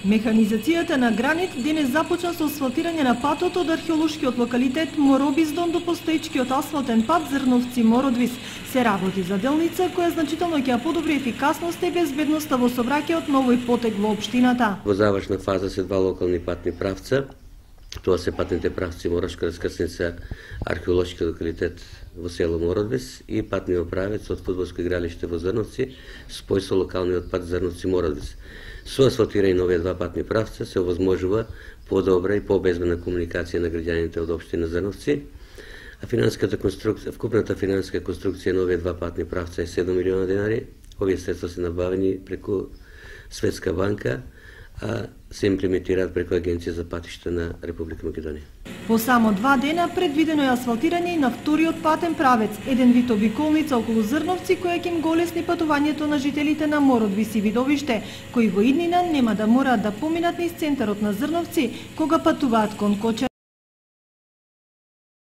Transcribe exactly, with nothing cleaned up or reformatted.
Механизацијата на Гранит денес започна со асфалтирање на патот од археолошкиот локалитет Моробиздон до постоечкиот асфалтен пат Зрновци-Мородвис. Се работи за делница која значително ќе ја подобри ефикасноста и безбедноста во сообраќајот на овој потек во општината. Во завршна фаза се два локални патни правца. Тоа се патните правци Морошка раскрсница, археолошки локалитет во село Мородвис и патниот правец од фудбалско игралиште во Зрновци, спој со локалниот пат Зрновци-Мородвис. Со асфалтирање на овие два патни правца се овозможува подобра и побезбедна комуникација на граѓаните од општина Зрновци, а финансиската конструкција, вкупната финансиска конструкција на овие два патни правца е седум милиона денари. Овие средства се набавени преку Светска банка, а се имплементираат преку Агенција за патишта на Република Македонија. По само два дена предвидено е асфалтирање и на вториот патен правец, еден вид обиколница околу Зрновци која ќе им го олесни патувањето на жителите на Мородвис и Видовиште, кои во иднина нема да мораат да поминат низ центарот на Зрновци кога патуваат кон Коча.